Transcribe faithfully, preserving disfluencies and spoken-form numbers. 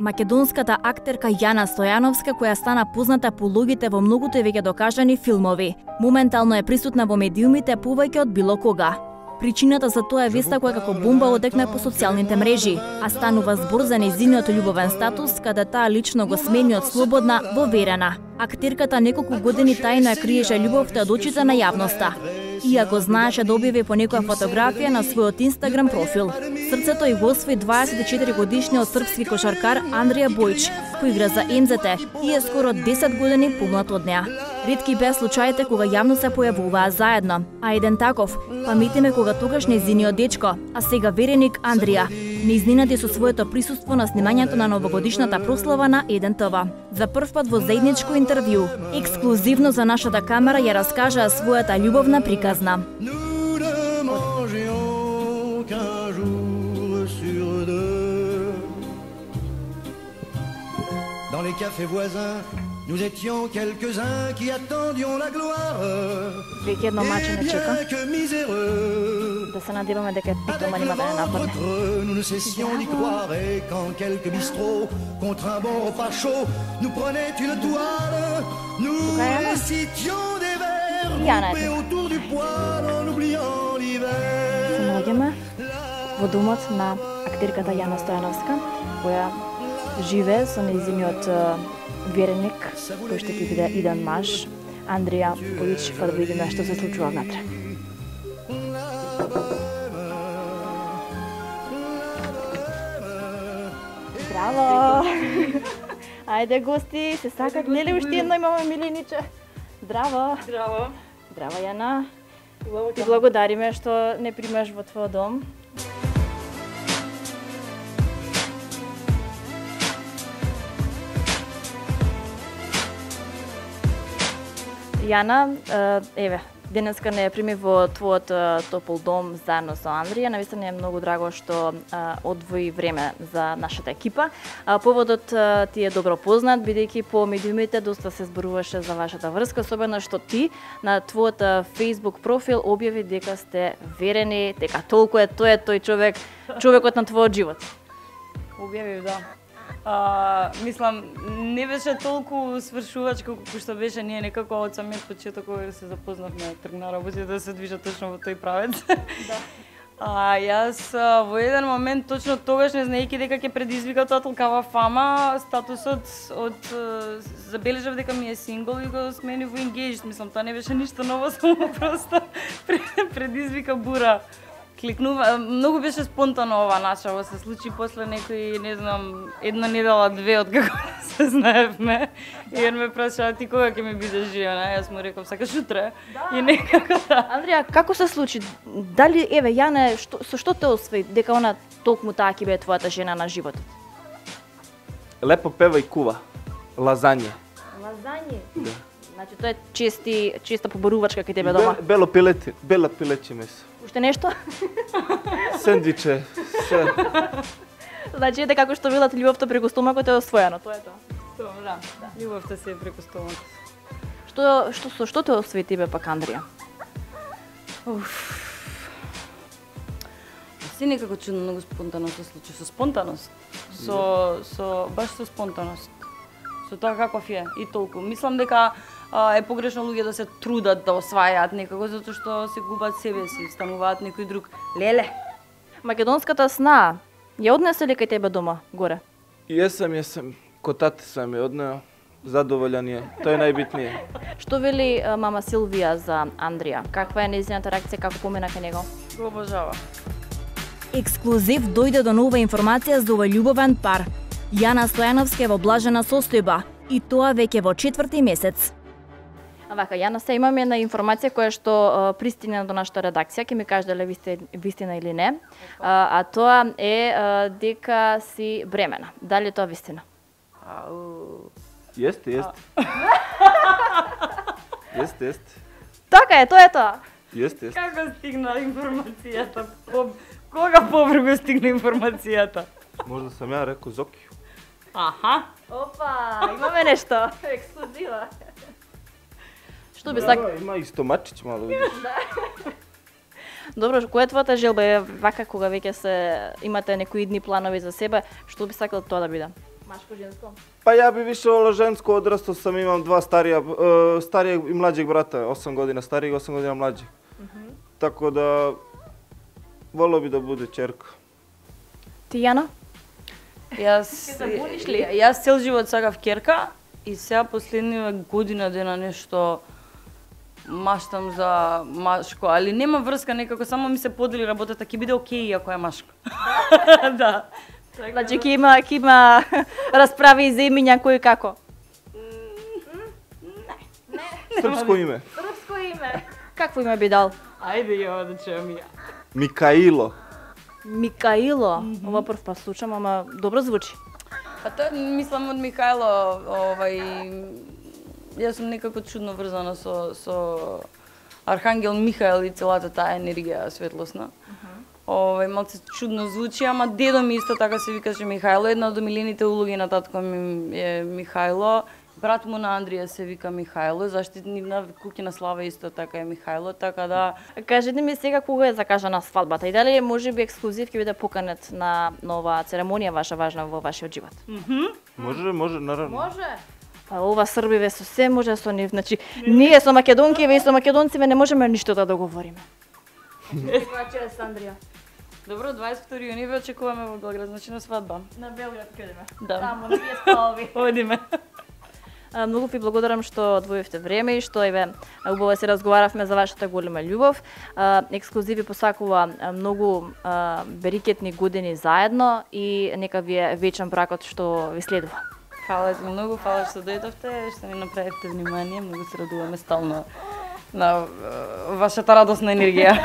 Македонската актерка Јана Стојановска, која стана позната по улогите во многуто и веќе докажани филмови, моментално е присутна во медиумите повеќе од било кога. Причината за тоа е веста која како бомба одекна по социјалните мрежи, а станува збор за нејзиниот љубовен статус, каде таа лично го смени од слободна во верена. Актерката неколку години тајно ја криеше љубовта од очите на јавноста, иако знаеше да објави по некоја фотографија на својот Инстаграм профил. Срцето и го освои дваесет и четири годишниот српски кошаркар Андрија Бојч, кој игра за Ем Зет Те и е скоро десет години помлад од неа. Ретки беа случаите кога јавно се појавуваа заедно, а еден таков паметиме кога тогаш нејзиниот дечко, а сега вереник Андрија, не изненади со своето присуство на снимањето на новогодишната прослава на еден Те Ве. За прв пат во заедничко интервју, ексклузивно за нашата камера ја раскажаа својата љубовна приказна. Dans les cafés voisins, nous étions quelques-uns qui attendions la gloire. Веќе едно маче не чека. Que miséreux. Да се надеваме дека питома нема да не нападне. Nous ne cessions d'y croire et quand quelques bistrots, contre un bon repas chaud, nous prenaient une toile, nous récitions des vers groupés autour du poêle en oubliant l'hiver. Се наоѓаме во домот на актерката Јана Стојановска, која живее со нејзиниот вереник, кој ще ќе биде иден маж, Андрија Бојч, па да видиме што се случува внатре. Здраво! Ајде гости, се сакат, нели уште едно имаме милениче? Здраво! Здраво! Здраво, Јана! Ти благодариме што не примаш во твој дом. Јана, еве, денеска не ја прими во твојот топол дом заедно со Андрија. Навистина е многу драго што одвои време за нашата екипа. Поводот ти е добро познат, бидејќи по медиумите доста се зборуваше за вашата врска, особено што ти на твојот Facebook профил објави дека сте верени, дека толку е тој е тој човек, човекот на твојот живот. Објавив, да. А, мислам, не беше толку свршувач колку што беше, ние некако од самиот почеток кога се запознавме, тргна работите да се движат точно во тој правец. Да. А јас во еден момент точно тогаш не знаејќи дека ќе предизвика тоа толкава фама, статусот од забележав дека ми е сингл и го смени во engaged. Мислам, тоа не беше ништо ново, само просто предизвика бура. Кликнува, многу беше спонтано ова начало, се случи после некои, не знам, една недела, две од како се знаевме. И он ме праша, ти кога ќе ми бидеш жена? Јас му реков, сакаш утре? Да. И некако да. Андрија, како се случи? Дали, еве, Јана, што, со што те освои дека она толкму таа ќе биде твојата жена на животот? Лепо пева и кува. Лазање. Лазање? Да. Значи, тоа е чести, честа побарувачка кај тебе дома? Бело пилети, бела пилече месо. Уште нешто? Сендвиче, се. Значи, ете како што велат, љубовта преку стомакот е освоено, тоа е тоа. Тоа, да. Љубовта се е преку стомакот. Што, што, со што те освои тебе пак, Андрија? Уф. Се некако чудно, многу спонтано се случи, со спонтаност. Со, со, баш со спонтаност. Со тоа каков е и толку. Мислам дека а, е погрешно луѓе да се трудат да освајаат некако, затоа што се губат себе си, стануваат некој друг. Леле! Македонската сна ја однесе ли кај тебе дома, горе? Јесам, јесам. Котате сам ја однео. Задоволен е. Тоа е најбитнije. Што вели а, мама Силвија за Андрија? Каква е нејзината реакција, како помина кај него? Го обожава. Ексклузив дојде до нова информација за овој љубовен пар. Јана Стојановска е во блажена состојба и тоа веќе во четврти месец. А вака, Јана, се имаме една информација која што а, пристигна до нашата редакција, ќе ми кажеш дали е вистина или не. А, а тоа е а, дека си бремена. Дали е тоа вистина? Ау. Јесте, јесте. Јесте, јесте. Така е, тоа е тоа. Јесте, јесте. Како стигна информацијата? Кога побрзо стигна информацијата? Можда сам ја рекол Зоки. Аха. Опа, имаме нешто. Ексклузива. Што би сак... Има и стомачич мало, видиш. Добро, која е твојата желба? Е вака кога веќе се имате некои идни планови за себе, што би сакал тоа да биде? Машко, женско? Па ја би више волел женско, одрастал сам, имам два старија, е, старијeg и млаđeg брата, осам година старијeg, осам година млаđeg. Mm -hmm. Така да волел би да буде ќерка. Ти, Јана? Јас Се забуниш ли? Јас цел живот сакав ќерка и сега последнива година дена нешто маштам за машко, али нема врска, некако само ми се подели работата, ќе биде окей ако е машко. Да. Значи ќе има ќе има расправи и за имиња кој како. Српско име. Српско име. Какво име би дал? Ајде ја да чуам ја. Микаило. Микаило. Mm -hmm. Ова прв пат слушам, ама добро звучи. Па тоа мислам од Михајло, овај јас сум некако чудно врзана со со Архангел Михаел и целата таа енергија светлосна. Mm -hmm. Овај малце чудно звучи, ама дедо ми исто така се викаше Михајло, една од омилените улоги на татко ми е Михајло. Брат му на Андрија се вика Михајло, заштитник на Куќина Слава исто така е Михајло, така да... Кажете ми сега кога е закажана свадбата и дали може би ексклузив ќе биде поканет на нова церемонија ваша важна во вашиот живот? Mm -hmm. Може, може, наравно. Може. Па ова србиве со се може со нив, значи ние со македонкиве и со македонциве не можеме ништо да договориме. Каква е Андрија? Добро, дваесет и втори јуни ве очекуваме во Белград, значи на свадба. На Белград кадеме? Да. Таму на тие столови. Одиме. Многу ви благодарам што одвоивте време и што еве убаво се разговаравме за вашата голема љубов. Ексклузиви посакува многу берикетни години заедно и нека ви е вечен бракот што ви следува. Фала ти многу, фала што дојдовте, што ни направивте внимание, многу се радуваме стално на вашата радосна енергија.